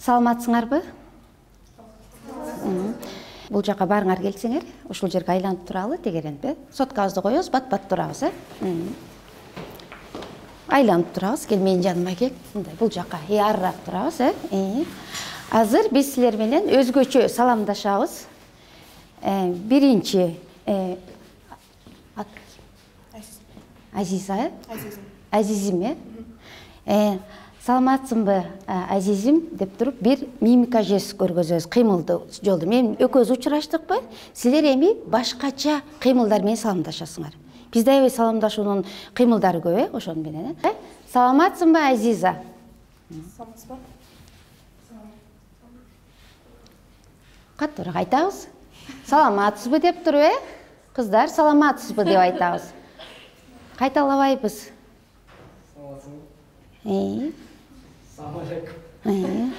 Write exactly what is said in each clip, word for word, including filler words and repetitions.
Саламатсыңарбы? Бул жака барыңар келсеңер, ушул жерге айланып туралы тегеренбе? Соткабызды коебуз, бат-бат турабыз, э? Айланып турабыз, кел менин жаныма кел. Мындай бул жака арыраак турабыз, э? Азыр биз силер менен өзгөчө саламдашабыз. Биринчи Азиза, Азизим, э? Саламатсыңбы, Азизим деп туруп бир мимика жест көргөзөбүз, кыймылды жолду. Мен экөөбүз учураштыкпы? Силер эми башкача кыймылдар менен саламдашасыңар. Бизде аябай саламдашуунун кыймылдары көп, э, ошону менен, э? Саламатсыңбы, Азиза? Саламатсызбы? Каттуураак айтабыз. Саламатсызбы деп туруп, э? Кыздар, саламатсызбы деп айтабыз. Кайталабайбыз. Саламатсызбы? Э? Салам алейкум. Э?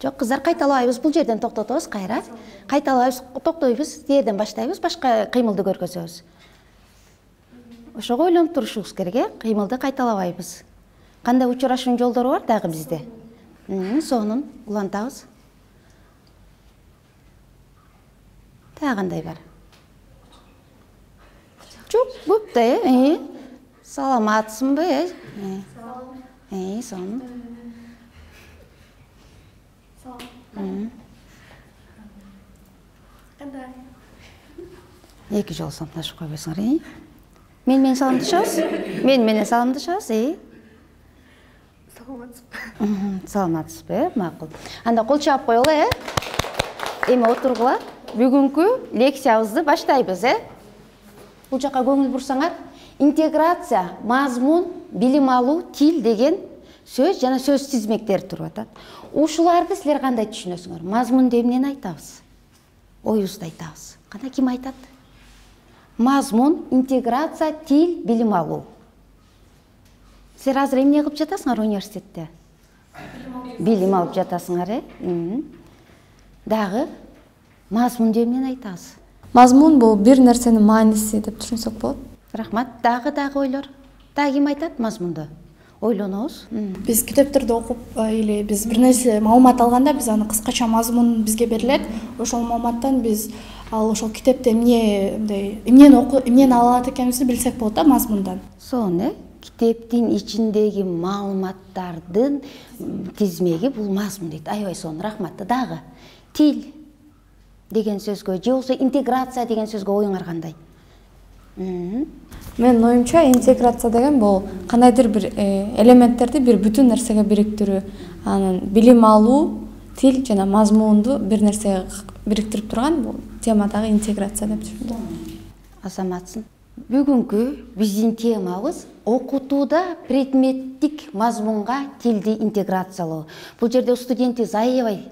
Жок, кыздар, кайталабайбыз. Бул жерден токтотобуз, кайра. Кайталабайбыз, токтойбуз, жерден баштайбыз, башка кыймылды көргөзөбүз. Ошого ойлонуп турушубуз керек, э? Кыймылды кайталабайбыз. Кандай учурашуунун жолдору бар дагы бизде? Сонун улантабыз. Дагы кандай бар? Жок, көп да, э? Саламатсыңбы, э? Э, сонун. Салам. Кандай? Эки жолу саламдашып койбойсуңар, э? Мен менен саламдашабыз? Мен менен саламдашабыз, э? Саламатсызбы? Саламатсызбы, э? Макул. Анда кол чаап коелу, э? Эми отургула. Бүгүнкү лекциябызды баштайбыз, э? Бул жака көңүл бурсаңар, интеграция, мазмун, билим алуу, тил деген сөз жана сөз тизмектери туруп атат. Ушуларды силер кандай түшүнөсүңөр? Мазмун деп эмнени айтабыз? Оюбузду айтабыз. Кана ким айтат? Мазмун, интеграция, тил, билим алуу. Силер азыр эмне кылып жатасыңар университетте? Билим алып жатасыңар, э? Дагы мазмун деп эмнени айтабыз? Мазмун бул бир нерсенин мааниси деп түшүнсөк болот. Рахмат. Дагы дагы ойлор. Дагы ким айтат мазмунду? Ойлонобуз. Биз китептерди окуп или биз бир нерсе маалымат алганда биз аны кыскача мазмун бизге берилет. Ошол маалыматтан биз ал ошол китепте эмне мындай эмнени окуп, эмнени ала алат экенибизди билсек болот да мазмундан. Сонун, э? Китептин ичиндеги маалыматтардын тизмеги бул мазмун дейт. Аябай сонун, рахмат. Дагы тил деген сөзгө же болбосо интеграция деген сөзгө оюңар кандай? Менин оюмча интеграция деген бул кандайдыр бир элементтерди бир бүтүн нерсеге бириктирүү. Анын билим алуу, тил жана мазмунду бир нерсеге бириктирип турган бул темадагы интеграция деп түшүндүм. Азаматсың. Бүгүнкү биздин темабыз окутууда предметтик мазмунга тилди интеграциялоо. Бул жерде студентибиз аябай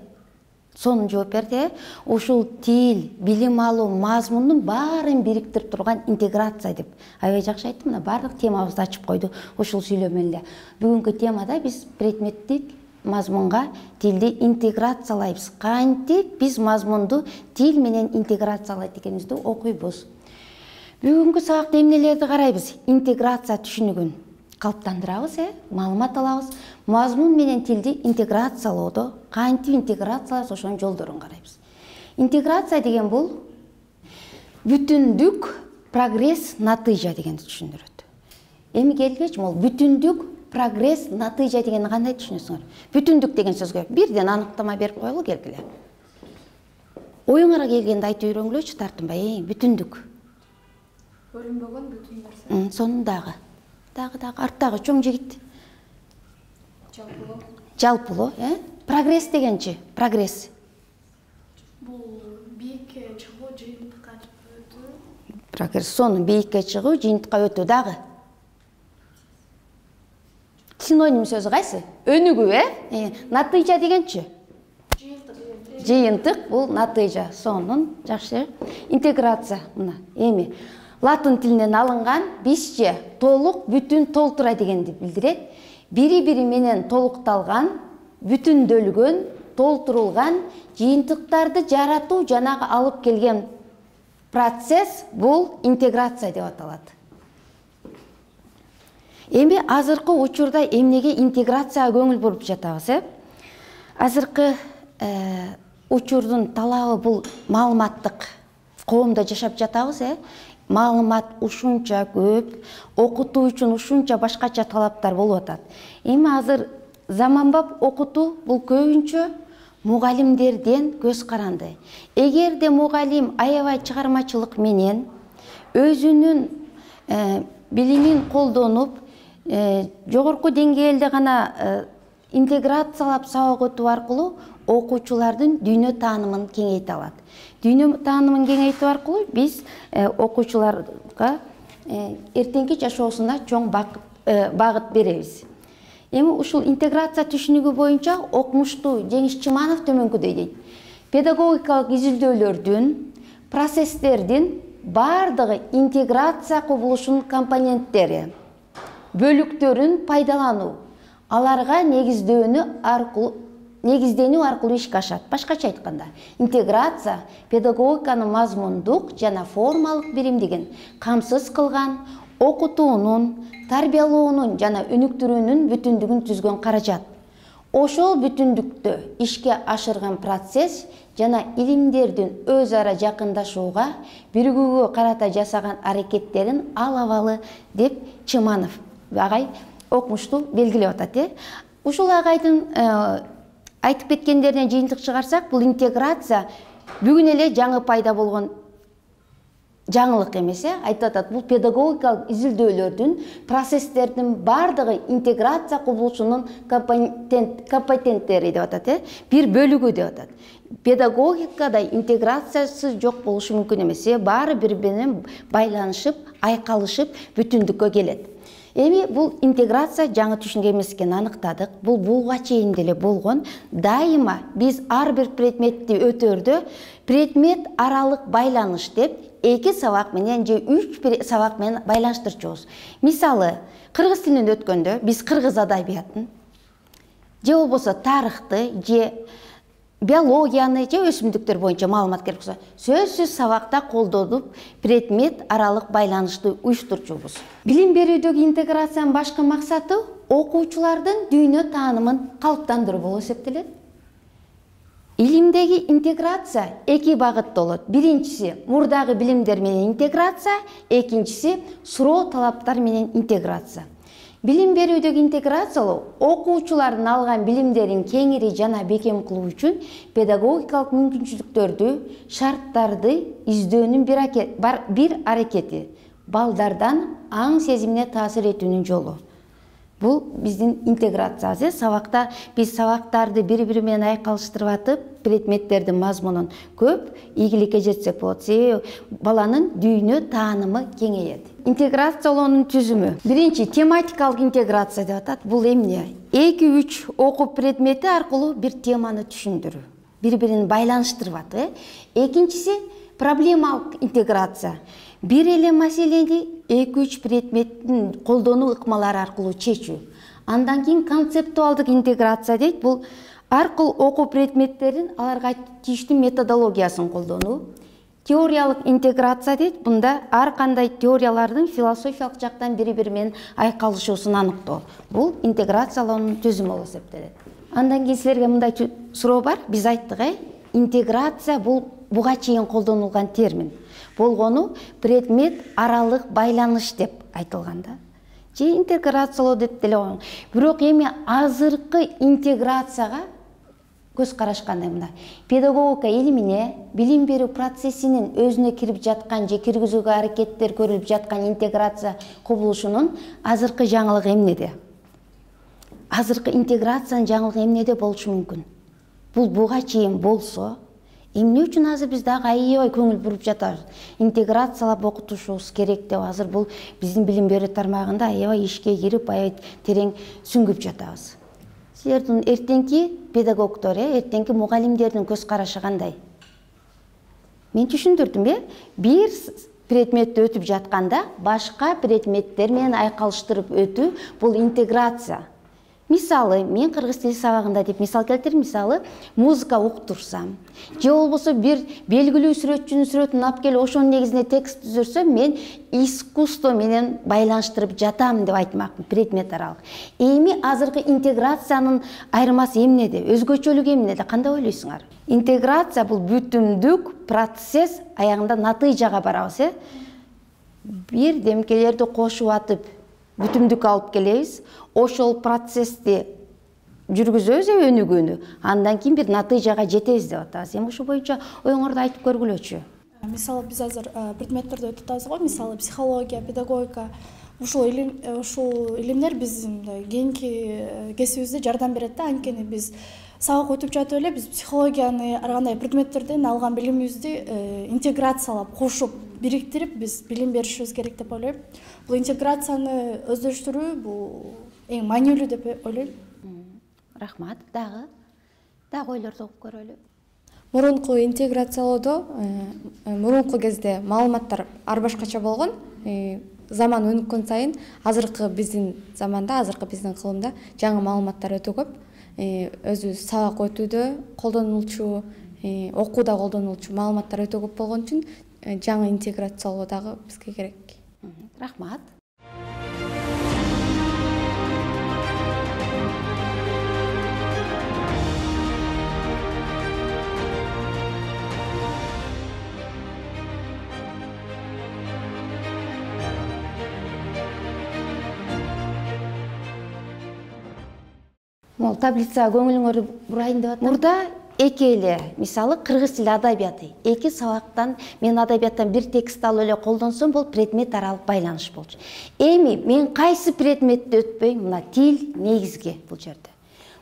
сонун жооп берди. Ушул тил, билим алуу, мазмундун баарын бириктирип турган интеграция деп. Аябай жакшы айтты, мына баардык темабызды ачып койду ушул сүйлөмө эле. Бүгүнкү темада биз предметтик мазмунга тилди интеграциялайбыз. Кантип биз мазмунду тил менен интеграциялайт экенибизди окуйбуз. Бүгүнкү сабакта эмнелерди карайбыз? Интеграция түшүнүгүн калыптандырабыз, э? Маалымат алабыз. Мазмун менен тилди интеграциялоодо кантип интеграциялайбыз, ошонун жолдорун карайбыз. Интеграция деген бул бүтүндүк, прогресс, натыйжа дегенди түшүндүрөт. Эми келгечи, могул бүтүндүк, прогресс, натыйжа дегенди кандай түшүнөсүңөр? Бүтүндүк деген сөзгө бирден аныктама берип коелу, келгиле. Оюңарга келгенди айтып үйрөнгүлөчү, тартынбай, бүтүндүк. Бөлүнбөгөн бүтүн нерсе. Сонун дагы. Дагы дагы арттагы чоң жигит. Жалпылоо. Жалпылоо, э? Прогресс дегенчи, прогресс. Бул бийикке чыгуу, жыйынтыкка өтүү. Прогресс сонун бийикке чыгуу, жыйынтыкка өтүү дагы. Синоним сөзү кайсы? Өнүгүү, э? Натыйжа дегенчи? Жыйынтык. Жыйынтык бул натыйжа. Сонун, жакшы. Интеграция мына эми латын тилинен алынган бизче толук, бүтүн, толтура дегенди билдирет. Бири-бири менен толукталган, бүтүндөлгөн, толтурулган жыйынтыктарды жаратуу жанагы алып келген процесс бул интеграция деп аталат. Эми азыркы учурда эмнеге интеграцияга көңүл буруп жатабыз, э? Азыркы учурдун талабы бул маалыматтык коомдо жашап жатабыз, э? Маалымат ушунча көп, окутуу үчүн ушунча башкача талаптар болуп атат. Эми азыр заманбап окутуу бул көбүнчө мугалимдерден көз каранды. Эгерде мугалим аябай чыгармачылык менен өзүнүн билимин колдонуп, жогорку деңгээлде гана интеграциялап сабак өтүү аркылуу окуучулардын дүйнө таанымын кеңейте алат. Дүйнө таанымын кеңейтүү аркылуу биз окуучуларга эртеңки жашоосуна чоң багыт беребиз. Эми ушул интеграция түшүнүгү боюнча окумуштуу Жеңиш Чыманов төмөнкүдөй дейт. Педагогикалык изилдөөлөрдүн, процесстердин бардыгы интеграция кубулушунун компоненттери, бөлүктөрүн пайдалануу, аларга негиздөөнү аркылуу негизденүү аркылуу ишке ашат. Башкача айтканда, интеграция педагогиканын мазмундук жана формалык биримдигин камсыз кылган, окутуунун, тарбиялоонун жана өнүктүрүүнүн бүтүндүгүн түзгөн каражат. Ошол бүтүндүктү ишке ашырган процесс жана илимдердин өз ара жакындашууга, биригүүгө карата жасаган аракеттерин ал абалы деп Чыманов агай окумуштуу белгилеп атат, э? Ушул агайдын айтып кеткендеринен жыйынтык чыгарсак, бул интеграция бүгүн эле жаңы пайда болгон жаңылык эмес, э? Айтып атат, бул педагогикалык изилдөөлөрдүн, процесстердин бардыгы интеграция кубулушунун компоненттери деп атат, э? Бир бөлүгү деп атат. Педагогикада интеграциясы жок болушу мүмкүн эмес, э? Баары бири менен байланышып, айкалышып, бүтүндүккө келет. Эми бул интеграция жаңы түшүнүк эмес экенин аныктадык. Бул буга чейин деле болгон. Дайыма биз ар бир предметти өтөрдө предмет аралык байланыш деп эки сабак менен же үч сабак менен байланыштырчубуз. Мисалы, кыргыз тилин өткөндө биз кыргыз адабиятын же болбосо тарыхты же биологияны же өсүмдүктөр боюнча маалымат керек болсо, сөзсүз сабакта колдонуп предмет аралык байланышты уюштурчубуз. Билим берүүдөгү интеграциянын башкы максаты окуучулардын дүйнө таанымын калыптандыруу болуп эсептелет. Илимдеги интеграция эки багытта болот. Биринчиси мурдагы билимдер менен интеграция, экинчиси суроо талаптар менен интеграция. Билим берүүдөгү интеграциялоо окуучулардын алган билимдерин кеңири жана бекем кылуу үчүн педагогикалык мүмкүнчүлүктөрдү, шарттарды издөөнүн бир аракети, балдардан аң сезимине таасир этүүнүн жолу. Бул биздин интеграциябыз. Сабакта биз сабактарды бири-бири менен айкалыштырып атып, предметтердин мазмунун көп ийгиликке жетсек болот. Себеби баланын дүйнө таанымы кеңейет. Интеграциялоонун түзүмү. Биринчи тематикалык интеграция деп атат. Бул эмне? эки үч окуу предмети аркылуу бир теманы түшүндүрүү, бири-бирин байланыштырып атат. Экинчиси проблемалык интеграция. Бир эле маселени эки үч предметтин колдонуу ыкмалары аркылуу чечүү. Андан кийин концептуалдык интеграция дейт. Бул аркылуу окуу предметтерин аларга тийиштүү методологиясын колдонуу. Теориялык интеграция дейт. Бунда ар кандай теориялардын философиялык жактан бири-бири менен айкалышуусун аныктоо. Бул интеграциялоонун түзүмү болуп эсептелет. Андан кийин силерге мындай суроо бар. Биз айттык, э? Интеграция бул буга чейин колдонулган термин. Болгону предмет аралык байланыш деп айтылган да. Же интеграциялоо деп деле койгон. Бирок эми азыркы интеграцияга көз караш кандай мында? Педагогика илимине, билим берүү процессинин өзүнө кирип жаткан же киргизүүгө аракеттер көрүлүп жаткан интеграция кубулушунун азыркы жаңылыгы эмнеде? Азыркы интеграциянын жаңылыгы эмнеде болушу мүмкүн? Бул буга чейин болсо, эмне үчүн азыр биз дагы аябай көңүл буруп жатабыз? Интеграциялап окутушубуз керек деп азыр бул биздин билим берүү тармагында аябай ишке кирип, аябай терең сүңгүп жатабыз. Силердин эртеңки педагогдор, эртеңки мугалимдердин көз карашы кандай? Мен түшүндүрдүм, э? Бир предметти өтүп жатканда башка предметтер менен айкалыштырып өтүү бул интеграция. Мисалы, мен кыргыз тили сабагында деп мисал келтирем, мисалы, музыка окутурсам, же болбосо бир белгилүү сүрөтчүнүн сүрөтүн алып келип ошонун негизинде текст түзөрсөм, мен искусство менен байланыштырып жатам деп айтмакмын, предмет аралык. Эми азыркы интеграциянын айырмасы эмнеде, өзгөчөлүгү эмнеде, кандай ойлойсуңар? Интеграция бул бүтүмдүк процесс, аягында натыйжага барабыз, э? Бир демкелерди кошуп атып, бүтүмдүк алып келебиз. Ошол процессти жүргүзөбүз өнүгүүнү. Андан кийин бир натыйжага жетебиз деп атабыз. Эми ошол боюнча оюңорду айтып көргүлөчү. Мисалы, биз азыр предметтерди өтүп атабыз го. Мисалы, психология, педагогика. Ушул илим, ушул илимдер биздин кийинки кесибибизде жардам берет да. Анткени биз сабак өтүп жатып эле биз психологияны, ар кандай предметтерден алган билимибизди интеграциялап, кошуп, бириктирип биз билим беришибиз керек деп ойлойм. Бул интеграцияны өздөштүрүү бул эң маанилүү деп ойлойм. Рахмат. Дагы дагы ойлорду угуп көрөлү. Мурунку интеграциялоодо мурунку кезде маалыматтар ар башкача болгон. Заман өнүккөн сайын азыркы биздин заманда, азыркы биздин кылымда жаңы маалыматтар өтө көп. Өзүбүз сабак өтүүдө колдонулчу, окууда колдонулчу маалыматтар өтө көп болгон үчүн жаңы интеграциялоо дагы бизге керек. Рахмат. Мол таблицага көңүлүңөрдү бурайын деп атам. Мурда эки эле, мисалы, кыргыз тили адабияты. Эки сабактан мен адабияттан бир текст алып эле колдонсом, бул предмет аралык байланыш болчу. Эми мен кайсы предметти өтпөйм? Мына тил негизги бул жерде.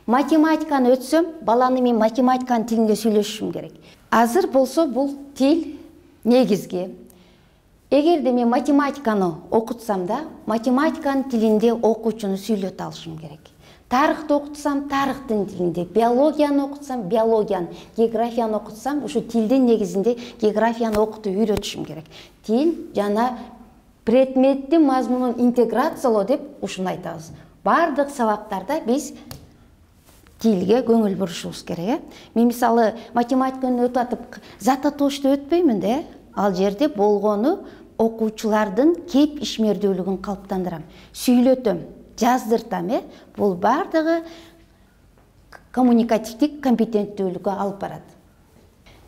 Математиканы өтсөм, баланы мен математиканын тилинде сүйлөшүшүм керек. Азыр болсо бул тил негизги. Эгерде мен математиканы окутсам да, математиканын тилинде окуучуну сүйлөтө алышым керек. Тарыхты окутсам, тарыхтын тилинде, биологияны окутсам, биологияны, географияны окутсам, ушу тилдин негизинде географияны окутуп үйрөтүшүм керек. Тил жана предметтин мазмунун интеграциялоо деп ушуну айтабыз. Бардык сабактарда биз тилге көңүл бурушубуз керек. Мен мисалы математиканы өтүп атып, зататошто өтпөймүн да, ал жерде болгону окуучулардын кеп ишмердүүлүгүн калыптандырам, сүйлөтөм, жаздыртам, э? Бул бардыгы коммуникативдик компетенттүүлүккө алып барат.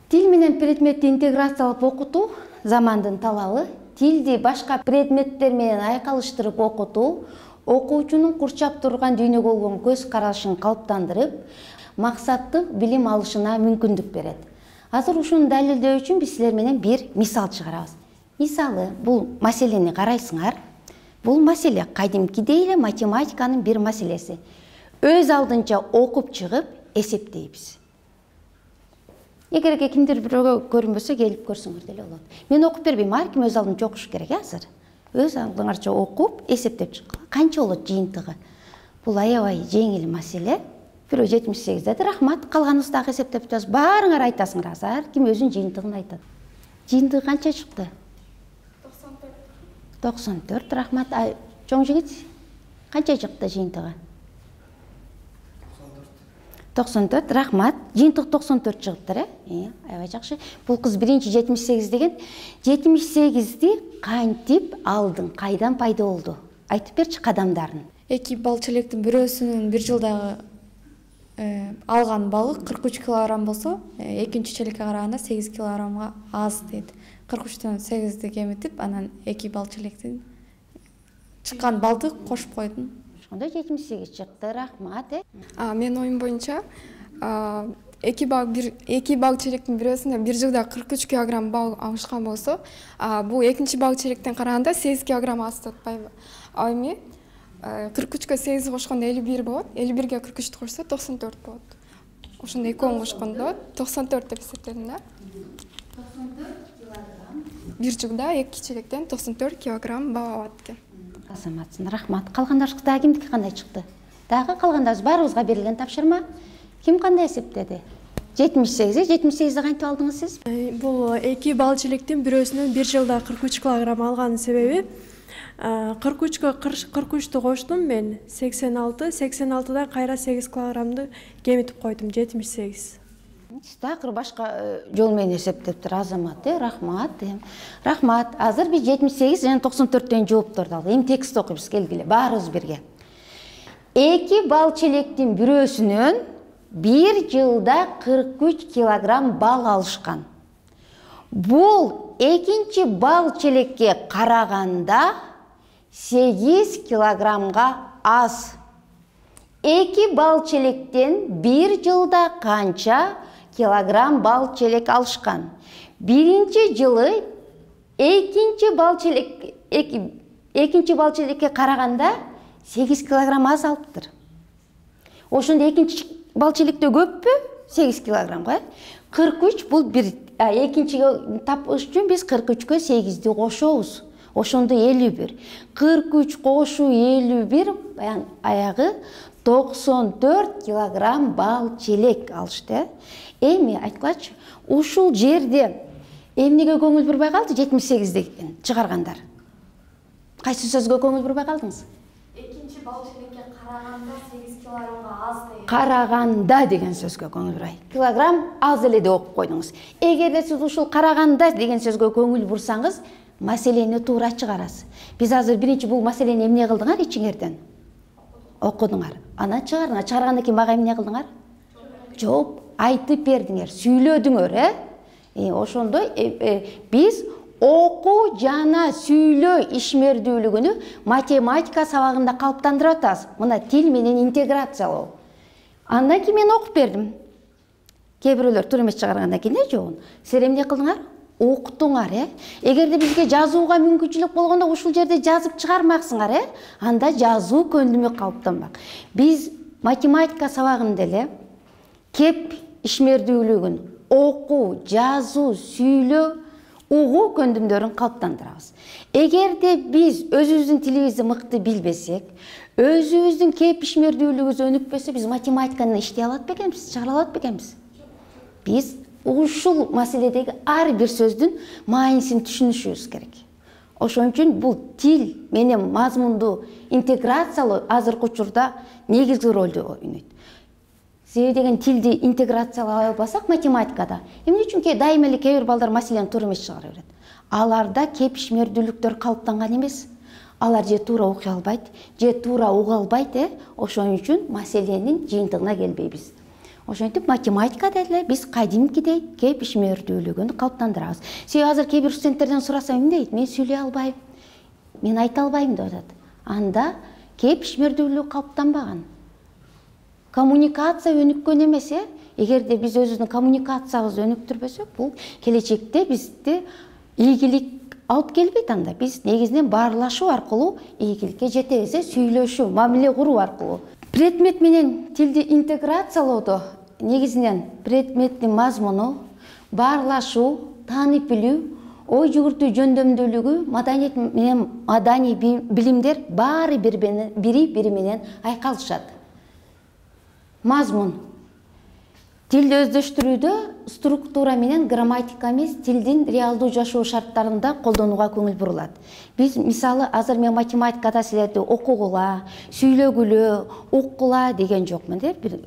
Тил менен предметти интеграциялап окутуу замандын талабы. Тилди башка предметтер менен айкалыштырып окутуу окуучунун курчап турган дүйнөгө болгон көз карашын калыптандырып, максаттуу билим алышына мүмкүндүк берет. Азыр ушуну далилдөө үчүн биз силер менен бир мисал чыгарабыз. Мисалы, бул маселени карайсыңар. Бул маселе кадимкидей эле математиканын бир маселеси. Өз алдынча окуп чыгып эсептейбиз. Эгерге кимдир бирөөгө көрүнбөсө, келип көрсөңөр деле болот. Мен окуп бербейм, ар ким өз алдынча окуш керек азыр. Өз алдыңарча окуп, эсептеп чыккыла. Канча болот жыйынтыгы? Бул аябай жеңил маселе. Бирөө жетимиш сегиз деди, рахмат, калганыбыз дагы эсептеп жатабыз. Баарыңар айтасыңар азыр, ар ким өзүнүн жыйынтыгын айтат. Жыйынтыгы канча чыкты? токсон төрт, рахмат. Чоң жигит, канча чыкты жыйынтыгы? токсон төрт, рахмат. Жыйынтык токсон төрт чыгыптыр, э? Аябай жакшы. Бул кыз биринчи жетимиш сегиз деген. жетимиш сегизди кантип алдың, кайдан пайда болду? Айтып берчи кадамдарын. Эки бал челектин бирөөсүнүн бир жылдагы алган балы кырк үч килограмм болсо, экинчи челекке караганда сегиз килограммга аз дейт. кырк үчтөн сегизди кемитип, анан эки бал челектин чыккан балды кошуп койдум. Ошондо жетимиш сегиз чыкты, рахмат, э? А, мен оюм боюнча, эки бал бир эки бал челектин бирөөсүндө бир жылда кырк үч килограмм бал алышкан болсо, бул экинчи бал челектен караганда сегиз килограмм аз деп атпайбы? А эми кырк үчкө сегиз кошкондо элүү бир болот, элүү бирге кырк үчтү кошсо токсон төрт болот. Ошондо экөөнү кошкондо токсон төрт деп эсептедим да. токсон төрт килограмм. Бир жылда эки челектен токсон төрт килограмм бал алат экен. Азаматсың, рахмат. Калгандарыбыз дагы кимдики кандай чыкты? Дагы калгандарыбыз баарыбызга берилген тапшырма. Ким кандай эсептеди? жетимиш сегиз, жетимиш сегизди кантип алдыңыз сиз? Бул эки бал челектин бирөөсүнүн бир жылда кырк үч килограмм алганын себеби кырк үчкө кырк үчтү коштум мен. сексен алты, сексен алтыдан кайра сегиз килограммды кемитип койдум, жетимиш сегиз. Такыр башка жол менен эсептептир Азамат, э, рахмат. Рахмат. Азыр биз жетимиш сегиз жана токсон төрттөн жоопторду алдык. Эми текст окуйбуз, келгиле, баарыбыз бирге. Эки бал челектин бирөөсүнөн бир жылда кырк үч килограмм бал алышкан. Бул экинчи бал челекке караганда сегиз килограммга аз. Эки бал челектен бир жылда канча килограмм бал челек алышкан? Биринчи жылы экинчи бал челек экинчи бал челекке караганда сегиз килограмм аз алыптыр. Ошондо экинчи бал челекте көппү? сегиз килограммга. кырк үч бул бир. Экинчиге тапыш үчүн биз кырк үчкө сегизди кошобуз. Ошондо элүү бир. кырк үч кошуу элүү бир, аягы токсон төрт килограмм бал челек алышты. Эми айткылачы, ушул жерде эмнеге көңүл бурбай калды жетимиш сегизди чыгаргандар? Кайсы сөзгө көңүл бурбай калдыңыз? Экинчи бал челекке караганда сегиз килограммга аз деген. Караганда деген сөзгө көңүл бурбай. Килограмм аз эле деп окуп койдуңуз. Эгерде сиз ушул караганда деген сөзгө көңүл бурсаңыз, маселени туура чыгарасыз. Биз азыр биринчи бул маселени эмне кылдыңар ичиңерден? Окудуңар. Анан чыгарыңар. Чыгаргандан кийин мага эмне кылдыңар? Жооп айтып бердиңер, сүйлөдүңөр, э? Э, ошондой биз окуу жана сүйлөө ишмердүүлүгүнү математика сабагында калыптандырып атабыз. Мына тил менен интеграциялоо. Андан кийин мен окуп бердим. Кээ бирөөлөр туура эмес чыгаргандан кийин да жообун. Силер эмне кылдыңар? Окуттуңар, э? Эгерде бизге жазууга мүмкүнчүлүк болгондо ушул жерде жазып чыгармаксыңар, э? Анда жазуу көндүмү калыптанбак. Биз математика сабагында эле кеп ишмердүүлүгүн окуу, жазуу, сүйлөө, угуу көндүмдөрүн калыптандырабыз. Эгерде биз өзүбүздүн тилибизди мыкты билбесек, өзүбүздүн кеп ишмердүүлүгүбүз өнүкпөсө, биз математиканы иштей алат бекенбиз, чыгара алат бекенбиз? Биз ушул маселедеги ар бир сөздүн маанисин түшүнүшүбүз керек. Ошон үчүн бул тил менен мазмунду интеграциялоо азыркы учурда негизги ролду ойнойт. Себеби деген тилди интеграциялай албасак математикада, эмне үчүн ке дайыма эле кээ бир балдар маселени туура эмес чыгара берет. Аларда кеп ишмердүүлүктөр калыптанган эмес. Алар же туура окуй албайт, же туура уга албайт, э? Ошон үчүн маселенин жыйынтыгына келбейбиз. Ошентип математикада эле биз кадимкидей кеп ишмердүүлүгүн калыптандырабыз. Себеби азыр кээ бир студенттерден сурасам эмне дейт? Мен сүйлөй албайм, мен айта албайм деп атат. Анда кеп ишмердүүлүгү калыптанбаган. Коммуникация өнүккөн эмес, э? Эгерде биз өзүбүздүн коммуникациябызды өнүктүрбөсөк, бул келечекте бизди ийгилик алып келбейт. Анда биз негизинен баарлашуу аркылуу ийгиликке жетебиз, э? Сүйлөшүү, мамиле куруу аркылуу. Предмет менен тилди интеграциялоодо негизинен предметтин мазмуну, баарлашуу, таанып билүү, ой жүгүртүү жөндөмдүүлүгү, маданият менен маданий билимдер баары бири бири менен айкалышат. Мазмун. Тилди өздөштүрүүдө структура менен грамматика эмес, тилдин реалдуу жашоо шарттарында колдонууга көңүл бурулат. Биз мисалы азыр мен математикада силерди окугула, сүйлөгүлө, уккула деген жокмун, деп. Бир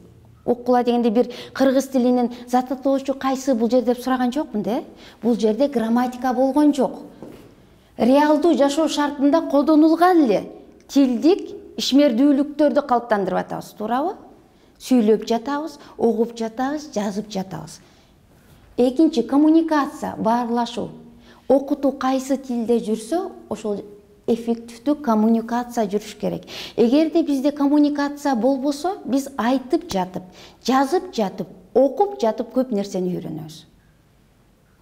уккула дегенде бир кыргыз тилинин зататтоочу кайсы бул жер деп сураган жокмун, де. Бул жерде грамматика болгон жок. Реалдуу жашоо шартында колдонулган эле тилдик ишмердүүлүктөрдү калыптандырып атабыз, туурабы? Сүйлөп жатабыз, угуп жатабыз, жазып жатабыз. Экинчи коммуникация, баарлашуу. Окутуу кайсы тилде жүрсө, ошол эффективдүү коммуникация жүрүш керек. Эгерде бизде коммуникация болбосо, биз айтып жатып, жазып жатып, окуп жатып көп нерсени үйрөнөбүз.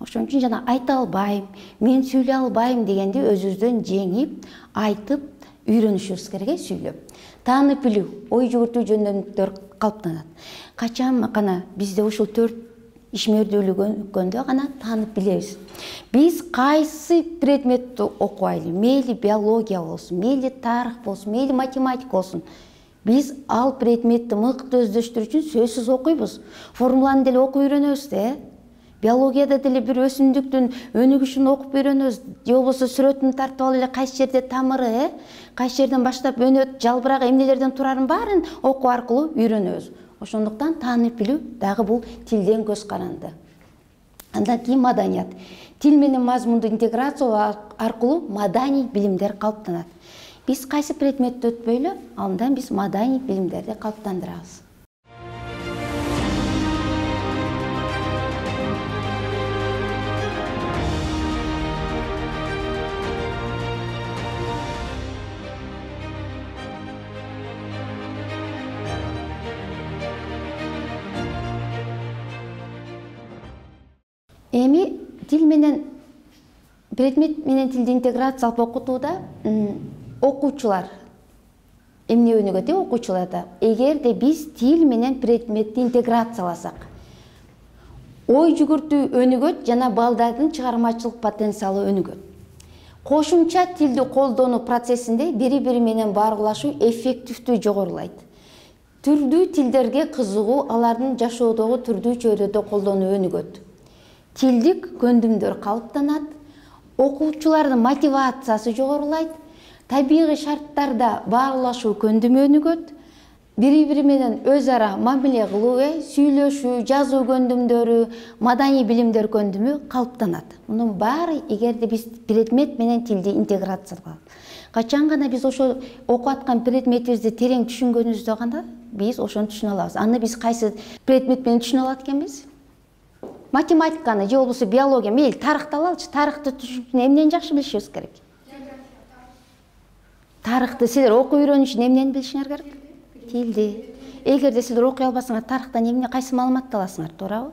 Ошон үчүн жана айта албайм, мен сүйлөй албайм дегенди өзүбүздөн жеңип, айтып үйрөнүшүбүз керек, сүйлөп. Таанып билүү, ой жүгүртүү жөндөмдүктөр калыптанат. Качан гана бизде ушул төрт ишмердүүлүк өнүккөндө гана таанып билебиз. Биз кайсы предметти окуайлы, мейли биология болсун, мейли тарых болсун, мейли математика болсун, биз ал предметти мыкты өздөштүрүү үчүн сөзсүз окуйбуз. Формуланы деле окуп үйрөнөбүз да. Биологияда деле бир өсүмдүктүн өнүгүшүн окуп үйрөнөбүз, же болбосо сүрөтүн тартып алып эле кайсы жерде тамыры, э, кайсы жерден баштап өнөт, жалбырак эмнелерден турарын баарын окуу аркылуу үйрөнөбүз. Ошондуктан таанып билүү дагы бул тилден көз каранды. Андан кийин маданият. Тил менен мазмунду интеграциялоо аркылуу маданий билимдер калыптанат. Биз кайсы предметти өтпөйлү, андан биз маданий билимдерди калыптандырабыз. Эми тил менен предмет менен тилди интеграциялап окутууда окуучулар эмне өнүгөт э окуучуларда? Эгерде биз тил менен предметти интеграцияласак, ой жүгүртүү өнүгөт жана балдардын чыгармачылык потенциалы өнүгөт. Кошумча тилди колдонуу процессинде бири-бири менен баргылашуу эффективдүү жогорулайт. Түрдүү тилдерге кызыгуу, алардын жашоодогу түрдүү чөйрөдө колдонуу өнүгөт. Тилдик көндүмдөр калыптанат, окуучулардын мотивациясы жогорулайт, табигый шарттарда баарлашуу көндүмү өнүгөт, бири-бири менен өз ара мамиле кылуу, сүйлөшүү, жазуу көндүмдөрү, маданий билимдер көндүмү калыптанат. Мунун баары эгерде биз предмет менен тилди интеграциялап, качан гана биз ошо окуп аткан предметибизди терең түшүнгөнүбүздө гана биз ошону түшүнө алабыз. Аны биз кайсы предмет менен түшүнө алат экенбиз? Математиканы же болбосо биология, мейли тарыхты алалычы, тарыхты түшүнүп эмнени жакшы билишибиз керек? Тарыхты силер окуп үйрөнүү үчүн эмнени билишиңер керек? Тилди. Эгерде силер окуй албасаңар, тарыхтан эмне, кайсы маалыматты аласыңар, туурабы?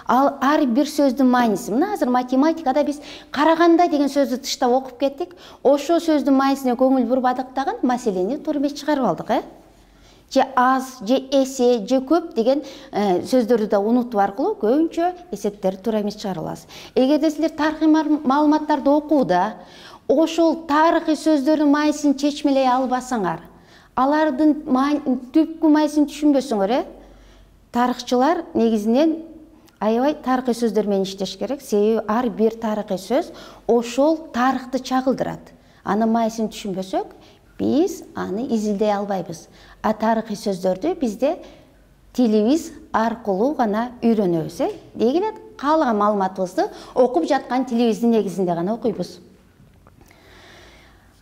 Ал ар бир сөздүн мааниси. Мына азыр математикада биз караганда деген сөздү тыштап окуп кеттик. Ошо сөздүн маанисине көңүл бурбадык дагы маселени туура эмес чыгарып алдык, э? Же аз, же эсе, же көп деген сөздөрдү да унутуу аркылуу көбүнчө эсептерди туура эмес чыгара алабыз. Эгерде силер тарыхый маалыматтарды окууда ошол тарыхый сөздөрдүн маанисин чечмелей албасаңар, алардын түпкү маанисин түшүнбөсөңөр, э? Тарыхчылар негизинен аябай тарыхый сөздөр менен иштеш керек. Себеби ар бир тарыхый сөз ошол тарыхты чагылдырат. Анын маанисин түшүнбөсөк, биз аны изилдей албайбыз. А тарыхый сөздөрдү бизде тилибиз аркылуу гана үйрөнөбүз, э? Дегенде каалаган маалыматыбызды окуп жаткан тилибиздин негизинде гана окуйбуз.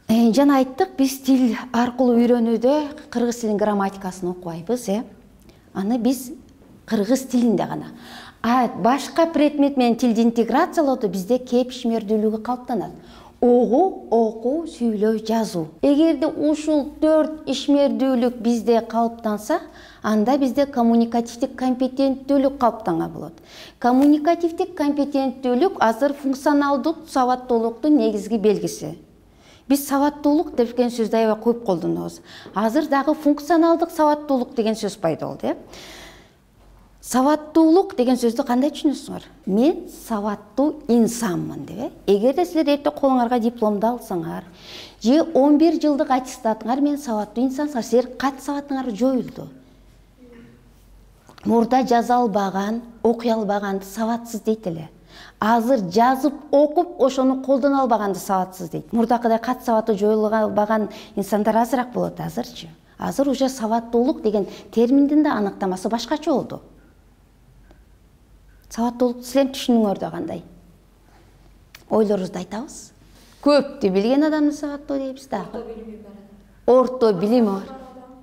Э, жана айттык, биз тил аркылуу үйрөнүүдө кыргыз тилинин грамматикасын окубайбыз, э? Аны биз кыргыз тилинде гана. А башка предмет менен тилди интеграциялоодо бизде кеп ишмердүүлүгү калыптанат. Огуу, окуу, сүйлөө, жазуу. Эгерде ушул төрт ишмердүүлүк бизде калыптанса, анда бизде коммуникативдик компетенттүүлүк калыптанган болот. Коммуникативдик компетенттүүлүк азыр функционалдык сабаттуулуктун негизги белгиси. Биз сабаттуулук деген сөздү аябай көп колдонобуз. Азыр дагы функционалдык сабаттуулук деген сөз пайда болду, э? Сабаттуулук деген сөздү кандай түшүнөсүңөр? Мен сабаттуу инсанмын деп, э? Эгерде силер эртең колуңарга дипломду алсаңар, же он бир жылдык аттестатыңар менен сабаттуу инсансыңар, силер кат сабатыңар жоюлду. Мурда жаза албаган, окуй албаганды сабатсыз дейт эле. Азыр жазып, окуп, ошону колдоно албаганды сабатсыз дейт. Мурдакыдай кат сабаты жоюлган инсандар азыраак болот азырчы. Азыр уже сабаттуулук деген терминдин да аныктамасы башкача болду. Сабаттуулукту силер түшүнүңөр кандай? Ойлорубузду айтабыз. Көптү билген адамды сабаттуу дейбиз дагы. Орто билими бар.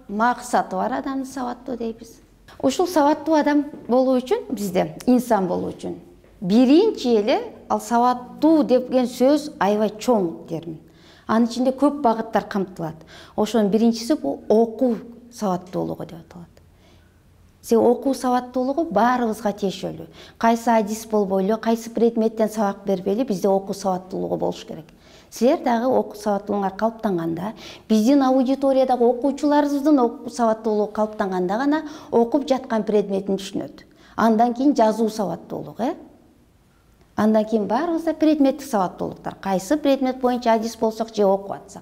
Максаты бар адамды сабаттуу дейбиз. Ушул сабаттуу адам болуу үчүн бизде, инсан болуу үчүн биринчи эле ал сабаттуу деген сөз аябай чоң термин. Анын ичинде көп багыттар камтылат. Ошонун биринчиси бул окуу сабаттуулугу деп аталат. Се окуу сабаттуулугу баарыбызга тиешелүү. Кайсы адис болбойлу, кайсы предметтен сабак бербейли, бизде окуу сабаттуулугу болуш керек. Силер дагы окуу сабаттуулугуңар калыптанганда, биздин аудиториядагы окуучуларыбыздын окуу сабаттуулугу калыптанганда гана окуп жаткан предметин түшүнөт. Андан кийин жазуу сабаттуулугу, э? Андан кийин баарыбызда предметтик сабаттуулуктар. Кайсы предмет боюнча адис болсок же окуп атсак.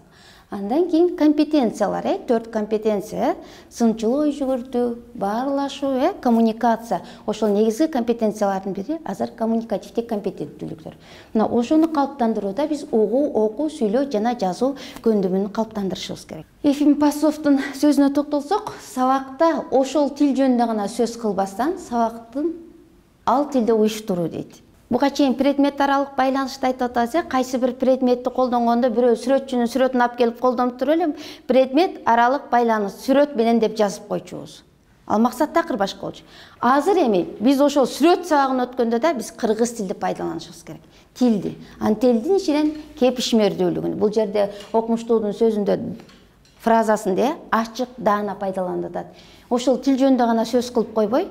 Андан кийин компетенциялар, э, төрт компетенция, сынчыл ой жүгүртүү, баарлашуу, э, коммуникация. Ошол негизги компетенциялардын бири азыр коммуникативдик компетенттүүлүктөр. Мына ошону калыптандырууда биз угуу, окуу, сүйлөө жана жазуу көндүмүн калыптандырышыбыз керек. Ефим Пасовдун сөзүнө токтолсок, сабакта ошол тил жөнүндө гана сөз кылбастан, сабактын ал тилде уюштуруу дейт. Буга чейин предмет аралык байланышты айтып атабыз, э, кайсы бир предметти колдонгондо бирөө сүрөтчүнүн сүрөтүн алып келип колдонуп туруп эле предмет аралык байланыш сүрөт менен деп жазып койчубуз. Ал максат такыр башка болчу. Азыр эми биз ошол сүрөт сабагын өткөндө да биз кыргыз тилди пайдаланышыбыз керек. Тилди. Анын тилдин ичинен кепишмердүүлүгүн. Бул жерде окумуштуудун сөзүндө фразасында ачык даана пайдаланылат. Ошол тил жөнүндө гана сөз кылып койбой,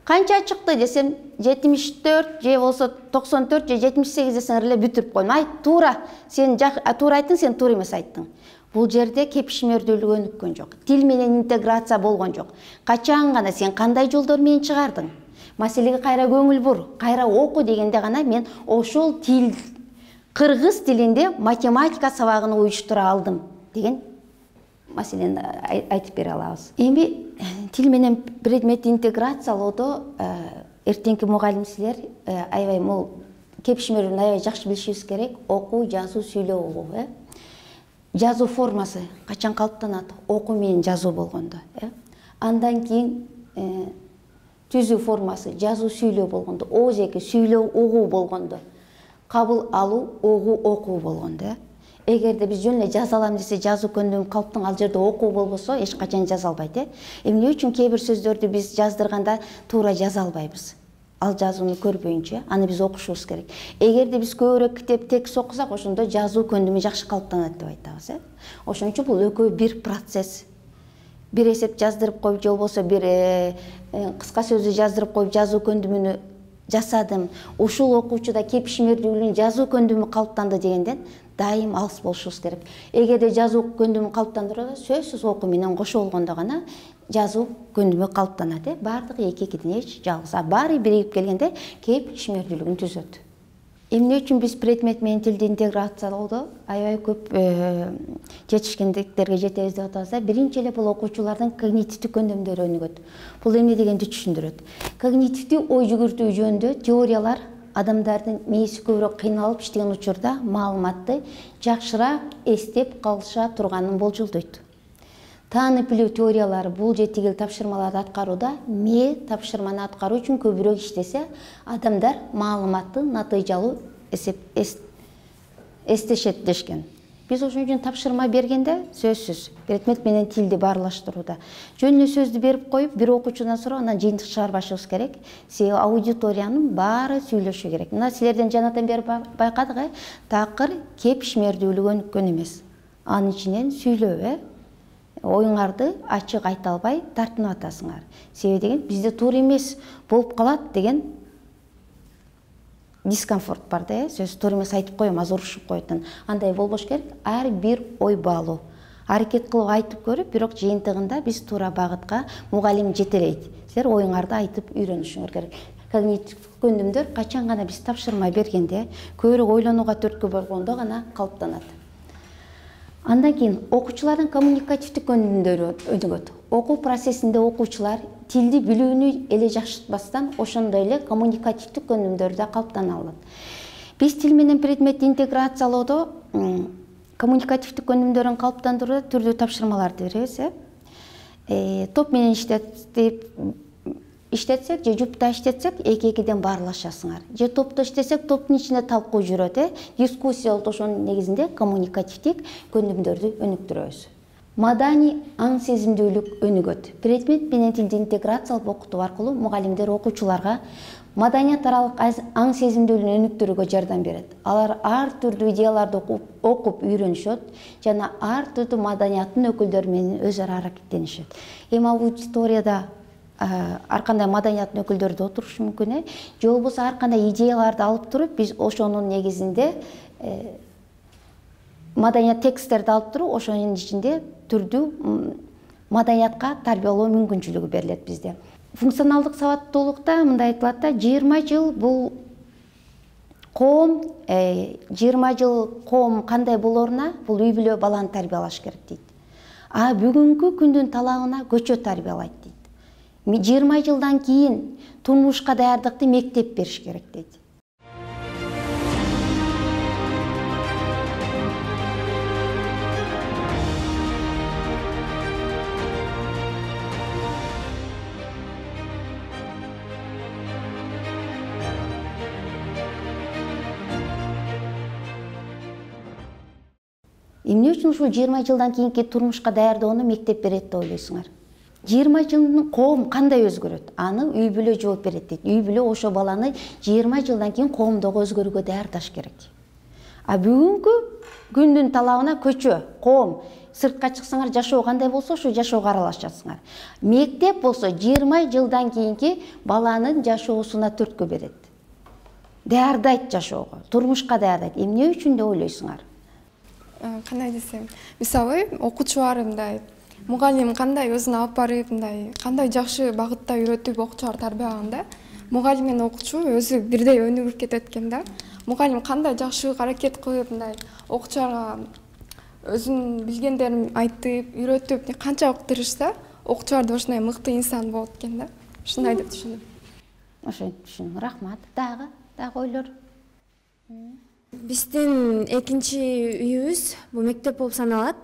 канча чыкты десем жетимиш төрт же болсо токсон төрт же жетимиш сегиз десеңер эле бүтүрүп койдум. Айт туура, сен туура айттың, сен туура эмес айттың. Бул жерде кепишмердүүлүк өнүккөн жок. Тил менен интеграция болгон жок. Качан гана сен кандай жолдор менен чыгардың? Маселеге кайра көңүл бур, кайра оку дегенде гана мен ошол тил кыргыз тилинде математика сабагын уюштура алдым деген маселени айтып бере алабыз. Эми тил менен предметти интеграциялоодо эртеңки мугалим силер аябай мол кепишмердүүлүгүн аябай жакшы билишибиз керек. Окуу, жазуу, сүйлөө угуу, э. Жазуу формасы качан калыптанат? Окуу менен жазуу болгондо, э. Андан кийин түзүү формасы жазуу, сүйлөө болгондо, оозеки сүйлөө, угуу болгондо, кабыл алуу, угуу, окуу болгондо, э. Эгерде биз жөн эле жаза алам десе, жазуу көндүм калыптын, ал жерде окуу болбосо эч качан жаза албайт, э. Эмне үчүн кээ бир сөздөрдү биз жаздырганда туура жаза албайбыз? Ал жазууну көрбөйүнчө, аны биз окушубуз керек. Эгерде биз көбүрөөк китеп текст окусак, ошондо жазуу көндүмү жакшы калыптанат деп айтабыз, э. Ошон үчүн бул экөө бир процесс. Бир эсеп жаздырып коюп, же болбосо бир кыска сөздү жаздырып коюп, жазуу көндүмүнү жасадым. Ушул окуучуда кепишмердүүлүгүн жазуу көндүмү калыптанды дегенден дайым алыс болушубуз керек. Эгерде жазуу көндүмү калыптандырууда сөзсүз окуу менен кошо болгондо гана жазуу көндүмү калыптанат, э. Бардыгы эки-экиден эч жалгыз. А баары биригип келгенде кепишмердүүлүгүн түзөт. Эмне үчүн биз предмет менен тилди интеграциялоодо аябай көп жетишкендиктерге жетебиз деп атабыз да. Биринчи эле бул окуучулардын когнитивдик көндүмдөрү өнүгөт. Бул эмне дегенди түшүндүрөт. Когнитивдик ой жүгүртүү жөнүндө теориялар адамдардын мээси көбүрөөк кыйналып иштеген учурда маалыматты жакшыраак эстеп калыша турганын болжолдойт. Таанып билүү теориялары бул же тигил тапшырмаларды аткарууда мээ тапшырманы аткаруу үчүн көбүрөөк иштесе, адамдар маалыматты натыйжалуу эсеп эстешет дешкен. Биз ошон үчүн тапшырма бергенде сөзсүз предмет менен тилди баарлаштырууда жөн эле сөздү берип коюп, бир окуучудан сурап, анан жыйынтык чыгарбашыбыз керек. Себеби аудиториянын баары сүйлөшү керек. Мына силерден жанатан бери байкадык, э, такыр кепишмердүүлүк өнүккөн эмес. Анын ичинен сүйлөө, э. Оюңарды ачык айта албай тартынып атасыңар. Себеби деген бизде туура эмес болуп калат деген дискомфорт бар да, э. Сөз туура эмес айтып коем, азыр урушуп коет. Андай болбош керек. Ар бир ой баалуу. Аракет кылып айтып көрүп, бирок жыйынтыгында биз туура багытка мугалим жетелейт. Силер оюңарды айтып үйрөнүшүңөр керек. Когнитивдик көндүмдөр качан гана биз тапшырма бергенде, көбүрөөк ойлонууга түрткү болгондо гана калыптанат. Андан кийин окуучулардын коммуникативдик көндүмдөрү өнүгөт. Окуу процессинде окуучулар тилди билүүнү эле жакшыртпастан, ошондой эле коммуникативдик көндүмдөрдү да калыптана алат. Биз тил менен предметти интеграциялоодо коммуникативдик көндүмдөрүн калыптандырууда түрдүү тапшырмаларды беребиз, э. Топ менен иштетип иштетсек же жупта иштетсек, эки-экиден баарлашасыңар. Же топто иштесек, топтун ичинде талкуу жүрөт, э. Дискуссия болот, ошонун негизинде коммуникативдик көндүмдөрдү өнүктүрөбүз. Маданий аң сезимдүүлүк өнүгөт. Предмет менен тилди интеграциялап окутуу аркылуу мугалимдер окуучуларга маданият аралык аң сезимдүүлүгүн өнүктүрүүгө жардам берет. Алар ар түрдүү идеяларды окуп, окуп үйрөнүшөт жана ар түрдүү маданияттын өкүлдөрү менен өз ара аракеттенишет. Эми аудиторияда ар кандай маданияттын өкүлдөрү да отурушу мүмкүн, э. Же болбосо ар кандай идеяларды алып туруп, биз ошонун негизинде маданият тексттерди алып туруп, ошонун ичинде түрдүү маданиятка тарбиялоо мүмкүнчүлүгү берилет бизде. Функционалдык сабаттуулукта мындай айтылат да, жыйырма жыл бул коом жыйырма жыл коом кандай болоруна бул үй бүлө баланы тарбиялаш керек дейт. А бүгүнкү күндүн талабына көчө тарбиялайт дейт. жыйырма жылдан кийин турмушка даярдыкты мектеп бериш керек дейт. Эмне үчүн ушул жыйырма жылдан кийинки турмушка даярдоону мектеп берет деп ойлойсуңар? жыйырма жылдын коом кандай өзгөрөт? Аны үй бүлө жооп берет дейт. Үй бүлө ошо баланы жыйырма жылдан кийин коомдогу өзгөрүүгө даярдаш керек. А бүгүнкү күндүн талабына көчө, коом, сыртка чыксаңар жашоо кандай болсо ошо жашоого аралашасыңар. Мектеп болсо жыйырма жылдан кийинки баланын жашоосуна түрткү берет. Даярдайт жашоого, турмушка даярдайт. Эмне үчүн деп ойлойсуңар? Кандай десем, мисалы окуучулар мындай, мугалим кандай өзүн алып барып, мындай кандай жакшы багытта үйрөтүп окуучулар тарбиялаганда, мугалим менен окуучу өзү бирдей өнүгүп кетет экен да. Мугалим кандай жакшы аракет кылып, мындай окуучуларга өзүнүн билгендерин айтып, үйрөтүп, канчалык тырышса, окуучулар да ошондой мыкты инсан болот экен да. Ушундай деп түшүнөм. Ошентип түшүндүм. Рахмат. Дагы, дагы ойлор. Биздин экинчи үйүбүз бул мектеп болуп саналат.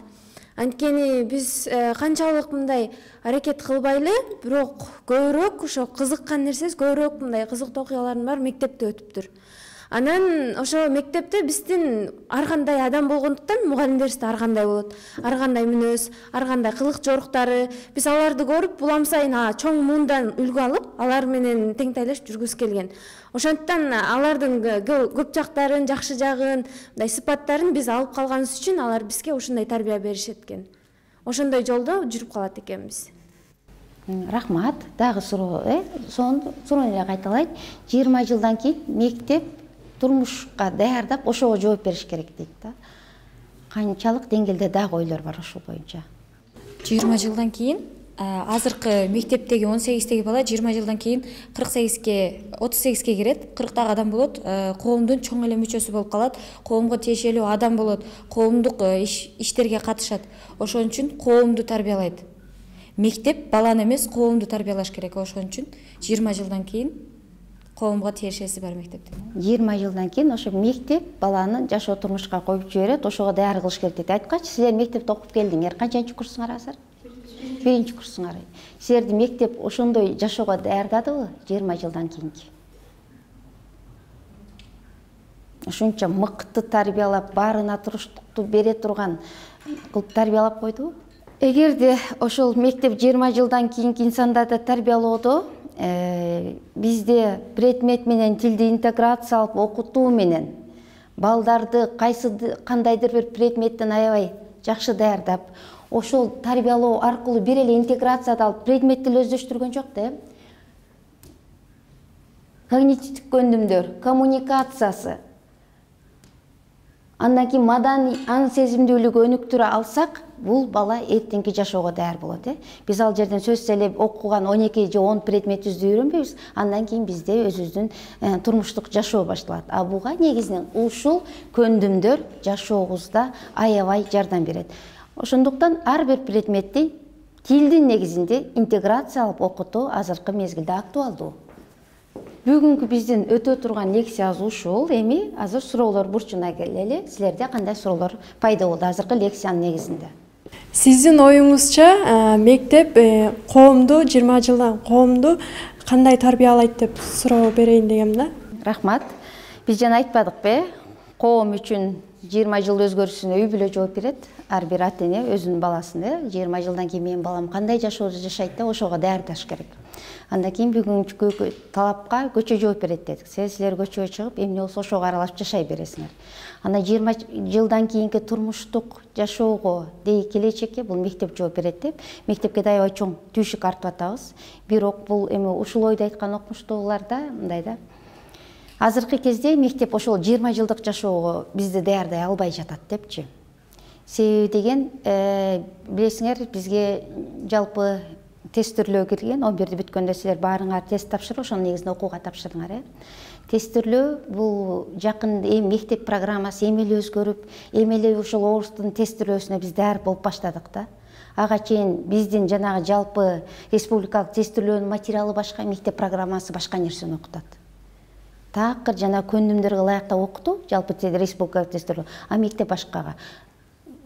Анткени биз канчалык мындай аракет кылбайлы, бирок көбүрөөк ошо кызыккан нерсебиз, көбүрөөк мындай кызыктуу окуялардын баары мектепте өтүптүр. Анан ошо мектепте биздин ар кандай адам болгондуктан мугалимдерибиз да ар кандай болот. Ар кандай мүнөз, ар кандай кылык жоруктары. Биз аларды көрүп, улам сайын чоң муундан үлгү алып, алар менен теңтайлашып жүргүбүз келген. Ошондуктан алардын көп жактарын, жакшы жагын, мындай сыпаттарын биз алып калганыбыз үчүн алар бизге ушундай тарбия беришет экен. Ошондой жолдо жүрүп калат экенбиз. Рахмат. Дагы суроо, э? Сонун суроону эле кайталайт. жыйырма жылдан кийин мектеп турмушка даярдап, ошого жооп бериш керек дейт да. Канчалык деңгээлде дагы ойлор бар ошол боюнча? жыйырма жылдан кийин азыркы мектептеги он сегиздеги бала жыйырма жылдан кийин кырк сегизге, отуз сегизге кирет, кырктагы адам болот, коомдун чоң эле мүчөсү болуп калат, коомго тиешелүү адам болот, коомдук иштерге катышат. Ошон үчүн коомду тарбиялайт. Мектеп баланы эмес, коомду тарбиялаш керек. Ошон үчүн жыйырма жылдан кийин коомго тиешеси бар мектептен. жыйырма жылдан кийин ошо мектеп баланы жашоо турмушка коюп жиберет, ошого даяр кылыш керек дейт. Айткачы, силер мектепте окуп келдиңер. Канчанчы курсуңар азыр? Биринчи курсуңар. Силерди мектеп ошондой жашоого даярдадыбы жыйырма жылдан кийинки? Ошончо мыкты тарбиялап, баарына туруштукту бере турган кылып тарбиялап койдубу? Эгерде ошол мектеп жыйырма жылдан кийинки инсандарды тарбиялоодо бизде предмет менен тилди интеграциялап окутуу менен балдарды кайсы кандайдыр бир предметтен аябай жакшы даярдап, ошол тарбиялоо аркылуу бир эле интеграциялап предметти эле өздөштүргөн жок да. Когнитивдик көндүмдөр, коммуникациясы, андан кийин маданий аң сезимдүүлүгү өнүктүрө алсак, бул бала эртеңки жашоого даяр болот. э Биз ал жерден сөзсүз эле окуган он эки же он предметибизди үйрөнбөйбүз, андан кийин бизде өзүбүздүн турмуштук жашоо башталат. А буга негизинен ушул көндүмдөр жашообузда аябай жардам берет. Ошондуктан ар бир предметти тилдин негизинде интеграциялап окутуу азыркы мезгилде актуалдуу. Бүгүнкү биздин өтө турган лекциябыз ушул. Эми азыр суроолор бурчуна келели. Силерде кандай суроолор пайда болду азыркы лекциянын негизинде? Сиздин оюңузча мектеп коомду жыйырма жылдан коомду кандай тарбиялайт деп суроо берейин дегем да. Рахмат. Биз жана айтпадыкпы? Коом үчүн жыйырма жыл өзгөрүшүнө үй бүлө жооп берет. Ар бир ата эне өзүнүн баласын жыйырма жылдан кийин менин балам кандай жашоодо жашайт деп ошого даярдаш керек. Андан кийин бүгүнкү талапка көчө жооп берет дедик. Силер көчөгө чыгып, эмне болсо ошого аралашып жашай бересиңер. Андан жыйырма жылдан кийинки турмуштук жашоого дей келечекке бул мектеп жооп берет деп мектепке да аябай чоң түйшүк артып атабыз. Бирок бул эми ушул ойду айткан окумуштууларда мындай да. Азыркы кезде мектеп ошол жыйырма жылдык жашоого бизди даярдай албай жатат депчи. Себеби деген, билесиңер, бизге жалпы тесттөөлгө кирген, он бирди бүткөндө силер баарыңар тест тапшырып, ошонун негизинде окууга тапшырдыңар, э? Тестирлөө бул жакын эми мектеп программасы эми эле өзгөрүп, эми эле ошол орус тилинин тестирлөөсүнө биз даяр болуп баштадык да. Ага чейин биздин жанагы жалпы республикалык тестирлөөнүн материалы башка, мектеп программасы башка нерсени окутат. Такыр жана көндүмдөргө ылайыктап окутуу жалпы республикалык тестирлөө, а мектеп башкага.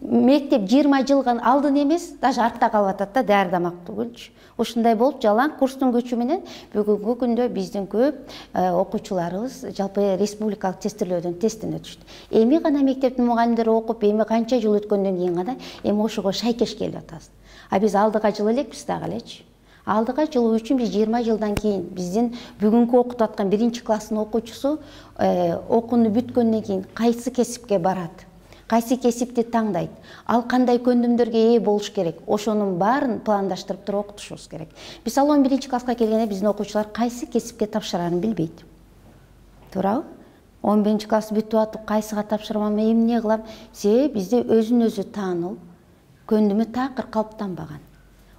Мектеп жыйырма жылга алдын эмес, даже артта калып атат да, даярдамак түгүлчү. Ушундай болуп жалаң курстун көчү менен бүгүнкү күндө биздин көп окуучуларыбыз жалпы республикалык тестирлөөдөн тесттен өтүштү. Эми гана мектептин мугалимдери окуп, эми канча жыл өткөндөн кийин гана эми ошого шайкеш келип атабыз. А биз алдыга жылы элекпиз дагы элечи. Алдыга жылуу үчүн биз жыйырма жылдан кийин биздин бүгүнкү окутуп аткан биринчи класстын окуучусу окууну бүткөндөн кийин кайсы кесипке барат? Кайсы кесипти таңдайт, ал кандай көндүмдөргө ээ болуш керек, ошонун баарын пландаштырып туруп окутушубуз керек. Мисалы он биринчи класска келгенде биздин окуучулар кайсы кесипке тапшырарын билбейт. Туурабы? он биринчи класс бүтүп атып, кайсыга тапшырмам, эмне кылам? Себеби бизде өзүн өзү таануу көндүмү такыр калыптанбаган.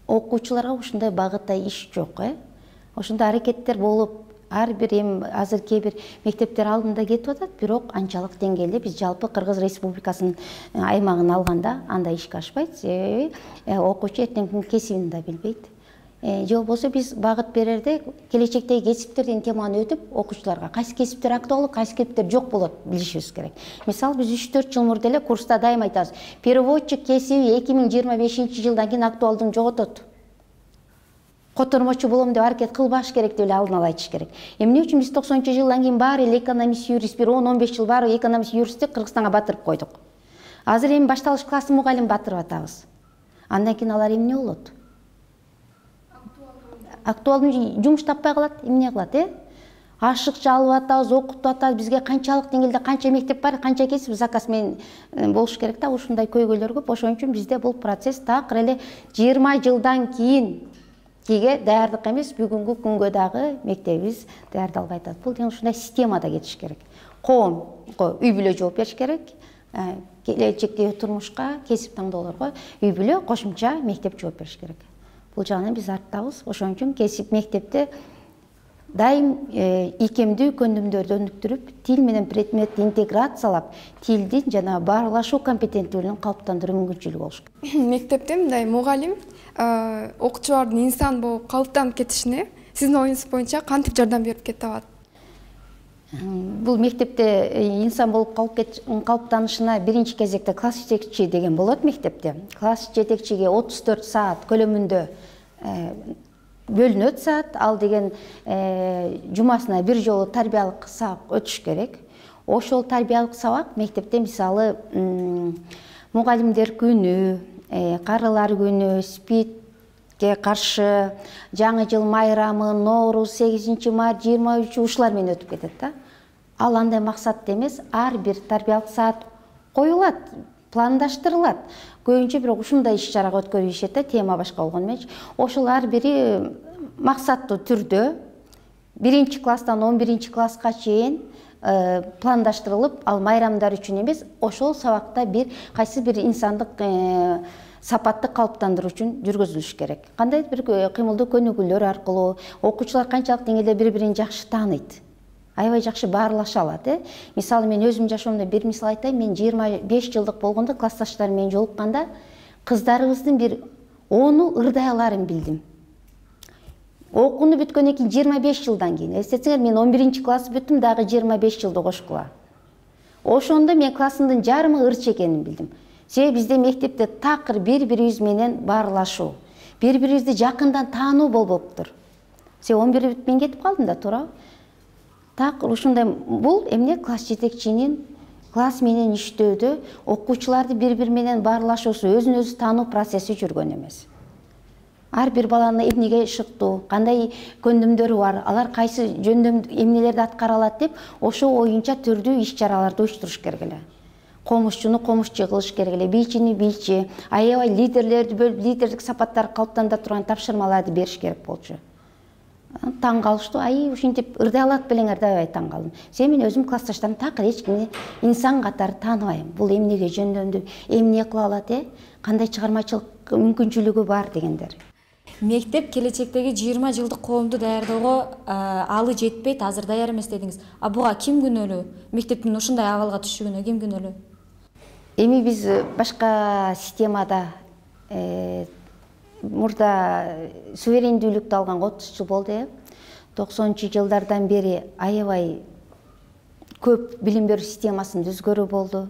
Окуучуларга ушундай багытта иш жок, э? Ошондой аракеттер болуп, ар бир эми азыр кээ бир мектептер алдында кетип атат, бирок анчалык деңгээлде биз жалпы Кыргыз Республикасынын аймагын алганда андай ишке ашпайт. Себеби окуучу эртеңки кесибин да билбейт. Же болбосо биз багыт берерде келечектеги кесиптердин теманы өтүп, окуучуларга кайсы кесиптер актуалдуу, кайсы кесиптер жок болот билишибиз керек. Мисалы биз үч төрт жыл мурда эле курста дайым айтабыз. Переводчик кесиби эки миң жыйырма бешинчи жылдан кийин актуалдыгын жоготот. Котормочу болом деп аракет кылбаш керек деп эле алдын ала айтыш керек. Эмне үчүн биз токсонунчу жылдан кийин баары эле экономист, юрист, бир он он беш жыл баары экономист, юристти Кыргызстанга батырып койдук. Азыр эми башталыш классын мугалим батырып атабыз. Андан кийин алар эмне болот? Актуалдуу жумуш таппай калат, эмне кылат, э? Ашыкча алып атабыз, окутуп атабыз, бизге канчалык деңгээлде канча мектеп бар, канча кесип заказ менен болуш керек да, ушундай көйгөйлөр көп. Ошон үчүн бизде бул процесс такыр эле жыйырма жылдан кийин кийге даярдык эмес, бүгүнкү күнгө дагы мектебибиз даярдалбай атат. Бул деген ушундай системада кетиш керек. Коомго үй бүлө жооп бериш керек. Келечектеги турмушка, кесип таңдоолорго үй бүлө кошумча мектеп жооп бериш керек. Бул жагынан биз арттабыз. Ошон үчүн кесип мектепте дайым ийкемдүү көндүмдөрдү өнүктүрүп, тил менен предметти интеграциялап, тилдин жана баарлашуу компетенттүүлүгүн калыптандыруу мүмкүнчүлүгү болуш керек. Мектепте мындай мугалим окуучулардын инсан болуп калыптанып кетишине сиздин оюңуз боюнча кантип жардам берип кете алат? Бул мектепте инсан болуп калыптанышына биринчи кезекте класс жетекчи деген болот мектепте. Класс жетекчиге отуз төрт саат көлөмүндө бөлүнөт саат, ал деген жумасына бир жолу тарбиялык сабак өтүш керек. Ошол тарбиялык сабак мектепте мисалы мугалимдер күнү, карылар күнү, спидке каршы, жаңы жыл майрамы, Ноорус, сегизинчи март, жыйырма үчү ушулар менен өтүп кетет да. Ал андай максатта эмес, ар бир тарбиялык саат коюлат, пландаштырылат. Көбүнчө бирок ушундай иш-чарага өткөрүшөт да, тема башка болгону менен. Ошол ар бири максаттуу түрдө биринчи класстан он биринчи класска чейин пландаштырылып, ал майрамдар үчүн эмес, ошол сабакта бир кайсы бир инсандык сапатты калыптандыруу үчүн жүргүзүлүш керек. Кандай бир кыймылдуу көнүгүүлөр аркылуу окуучулар канчалык деңгээлде бири-бирин жакшы тааныйт, аябай жакшы баарлаша алат, э? Мисалы мен өзүм жашоомдо бир мисал айтайын, мен жыйырма беш жылдык болгондо классташтарым менен жолукканда кыздарыбыздын бир ону ырдайларын билдим. Окууну бүткөндөн кийин жыйырма беш жылдан кийин, эстетсеңер, мен он биринчи класс бүттүм, дагы жыйырма беш жылды кошкула. Ошондо мен классымдын жарымы ырчы экенин билдим. Себеби бизде мектепте такыр бири-бирибиз менен баарлашуу, бири-бирибизди жакындан таануу болбоптур. Себеби он бир бүтүп мен кетип калдым да, туурабы? Так ушундай бул эмне класс жетекчинин класс менен иштөөдө окуучуларды бири-бири менен баарлашуусу, өзүн өзү таануу процесси жүргөн эмес. Ар бир баланы эмнеге шыктуу, кандай көндүмдөрү бар, алар кайсы жөндөм эмнелерди аткара алат деп, ошо оюнча түрдүү иш-чараларды уюштуруш керек эле. Комушчуну комушчу кылыш керек эле, бийчини бийчи, аябай лидерлерди бөлүп, лидердик сапаттарды калыптандыра турган тапшырмаларды бериш керек болчу. Таң калыштуу, ай ушинтип ырдай алат белеңер деп аябай таң калдым. Себеби мен өзүм классташтарым такыр эч кимди инсан катары тааныбайм. Бул эмнеге жөндөмдүү, эмне кыла алат, э? Кандай чыгармачылык мүмкүнчүлүгү бар дегендер. мектеп келечектеги жыйырма жылдык коомду даярдоого алы жетпейт, азыр даяр эмес дедиңиз. А буга ким күнөөлүү? Мектептин ушундай абалга түшүшүнө ким күнөөлүү? Эми биз башка системада мурда суверендүүлүктү алганга отуз жыл болду, э. токсонунчу жылдардан бери аябай көп билим берүү системасын өзгөрүү болду.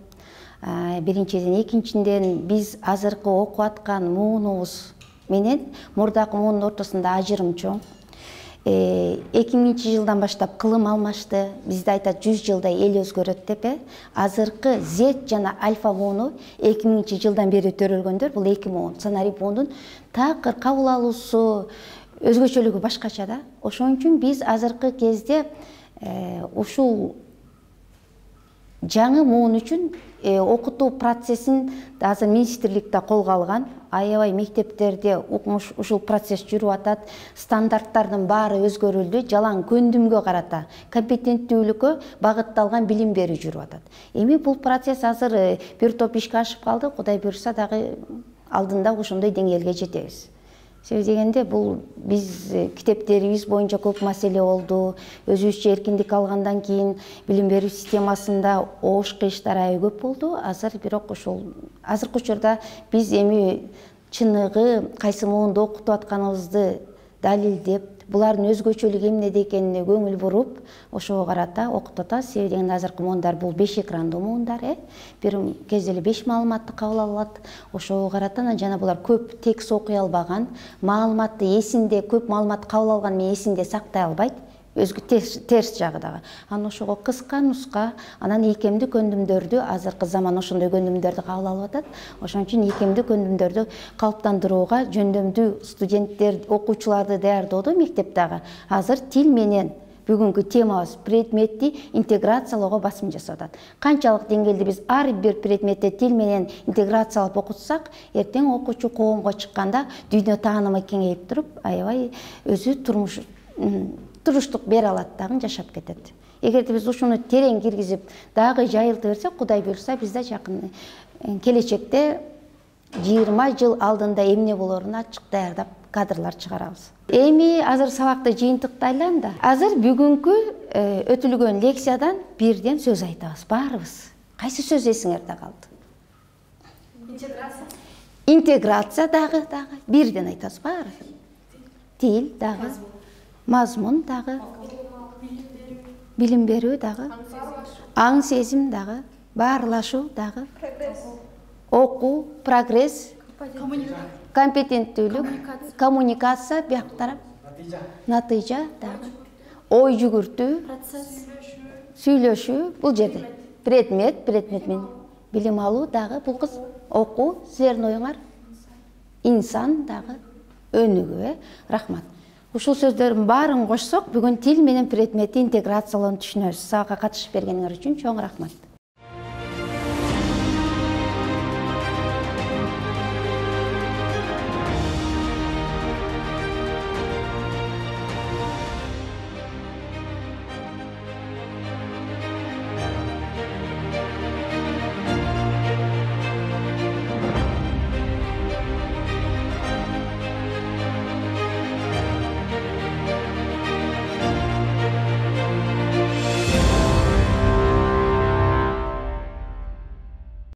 Биринчиден, экинчиден биз азыркы окуп аткан муунубуз менен мурдакы муунун ортосунда ажырым чоң. эки миңинчи жылдан баштап кылым алмашты. Бизде айтат жүз жылда эл өзгөрөт деп, э. Азыркы Z жана альфа мууну эки миңинчи жылдан бери төрөлгөндөр. Бул эки муун. Сценарий муунун такыр кабыл алуусу, өзгөчөлүгү башкача да. Ошон үчүн биз азыркы кезде ушул жаңы муун үчүн окутуу процессин азыр министрликте колго алган. Аябай мектептерде укмуш ушул процесс жүрүп атат. Стандарттардын баары өзгөрүлдү. Жалаң көндүмгө карата, компетенттүүлүккө багытталган билим берүү жүрүп атат. Эми бул процесс азыр бир топ ишке ашып калды. Кудай буйрса дагы алдында ошондой деңгээлге жетебиз. Себеби дегенде бул биз китептерибиз боюнча көп маселе болду. Өзүбүзчө эркиндик алгандан кийин билим берүү системасында оош кыйыштар аябай көп болду. Азыр бирок ошол азыркы учурда биз эми чыныгы кайсы муунду окутуп атканыбызды далилдеп, булардын өзгөчөлүгү эмнеде экенине көңүл буруп, ошого карата окутуп атабыз. Себеби дегенде азыркы муундар бул беш экрандуу муундар, э. Бир кезде эле беш маалыматты кабыл алат. Ошого карата жана булар көп текст окуй албаган, маалыматты эсинде, көп маалыматты кабыл алган менен эсинде сактай албайт. Өзгө терс жагы дагы. Анан ошого кыска нуска, анан ийкемдүү көндүмдөрдү, азыркы заман ошондой көндүмдөрдү кабыл алып атат. Ошон үчүн ийкемдүү көндүмдөрдү калыптандырууга жөндөмдүү студенттер, окуучуларды даярдоодо мектептеги азыр тил менен бүгүнкү темабыз предметти интеграциялоого басым жасап атат. Канчалык деңгээлде биз ар бир предметти тил менен интеграциялап окутсак, эртең окуучу коомго чыкканда дүйнө таанымы кеңейип туруп, аябай өзү турмуш туруштук бере алат дагы, жашап кетет. Эгерде биз ушуну терең киргизип, дагы жайылта берсек, Кудай буйрса, бизде жакын келечекте жыйырма жыл алдында эмне болоруна ачык даярдап кадрлар чыгарабыз. Эми азыр сабакты жыйынтыктайлам да. Азыр бүгүнкү өтүлгөн лекциядан бирден сөз айтабыз, баарыбыз. Кайсы сөз эсиңерде калды? Интеграция. Интеграция дагы, дагы бирден айтабыз баары. Тил дагы. Мазмун дагы, билим берүү дагы, аң сезим дагы, баарлашуу дагы, окуу, прогресс, компетенттүүлүк, коммуникация, бияк тарап, натыйжа дагы, ой жүгүртүү, сүйлөшүү, бул жерде предмет, предмет менен билим алуу дагы, бул кыз окуу, силердин оюңар, инсан дагы, өнүгүү, рахмат. Ушул сөздөрдүн баарын кошсок, бүгүн тил менен предметти интеграциялоону түшүнөбүз. Сабакка катышып бергениңер үчүн чоң рахмат.